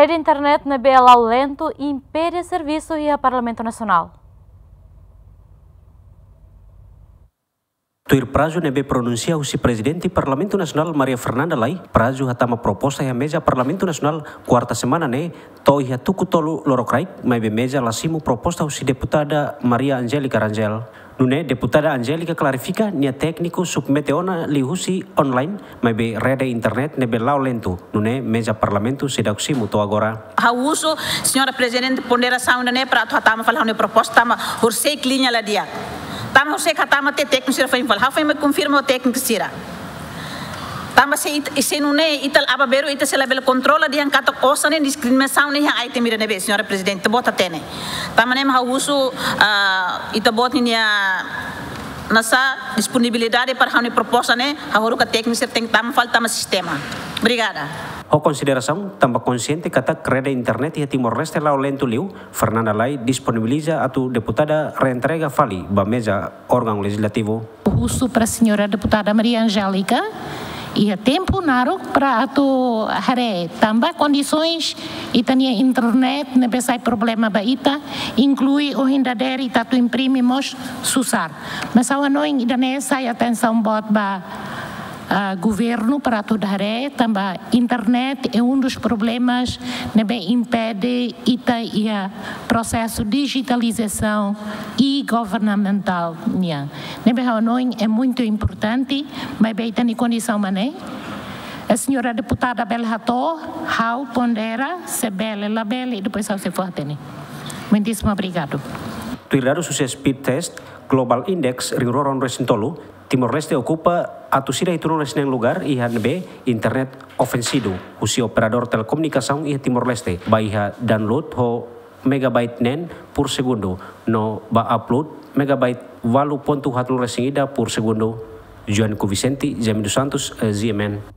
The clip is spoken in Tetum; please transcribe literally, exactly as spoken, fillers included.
Rede internet ne'ebé la'o lentu impede servisu iha Parlamentu Nasionál. Tuir prazu ne'ebé pronunsia husi Prezidente Parlamentu Nasionál Maria Fernanda Lay, prazu hatama proposta iha meza Parlamentu Nasionál kuarta semana ne'e to'o iha tuku tolu lorokraik, maibé meza la simu proposta husi deputada Maria Angélica Rangel. Nune'e deputada Angélica klarifika nia tékniku submete ona liuhusi online, maibé rede internet ne'ebé la'o lentu, nune'e meza Parlamentu seidauk simu to'o agora. Ha'u husu, Señora Prezidente, ponderasaun ida-ne'e para atu hatama fali ha'u-nia proposta tanba horiseik liña la di'ak. Tanba horiseik hatama tiha tékniku sira foin fali. Ha'u foin mai konfirma ho tékniku sira. Tanba se it-, se nune'e ita aban-bainrua ita sei labele kontrola dehan katak osan ne'e diskriminasaun ne'e iha item ida-ne'ebé, Señora Prezidente, ita-boot hatene. Tanba ne'e mak ha'u husu, ah, ita-boot ninia nasa disponibilidade para ha'u-nia proposta ne'e, ha'u haruka tékniku sira tenke tama fali tama sistema. Obrigada. Ho konsiderasaun, tanba konsiente katak rede internet iha Timor-Leste la'o lentu liu, Fernanda Lay disponibiliza atu deputada reentrega fali ba meza órgaun lejizlativu. Husu para Señora Deputada Maria Angélica, iha tempu naruk para atu haree, tanba kondisoens ita-nia internet ne'ebé sai problema ba ita, inklui ohin dadeer ita atu imprime mós susar. Mas ha'u hanoin ida-ne'e sai atensaun boot ba, ah, governu para atu haree, tanba internet é um dos problemas ne'ebé impede ita iha prosesu dijitalizasaun e-governamental nian. Ne'ebé ha'u hanoin é muito importante, maibé ita-nia kondisaun mak ne'e. A señora deputada bele hato'o, ha'u pondera, se bele, labele, depois ha'u sei fó-hatene. Muitíssimo obrigado. Tuir dadus husi Speedtest Global Index rihun rua ruanulu-resin-tolu, Timor-Leste okupa atus ida hitunulu-resin-neen lugar iha ne'ebé internet ofensidu husi operadór telekomunikasaun iha Timor-Leste, ba iha download ho megabyte neen por segundu, no ba upload megabyte walu pontu haatnulu-resin-ida por segundu. Joanco Vicente, Jaime dos Santos, eh, G M N.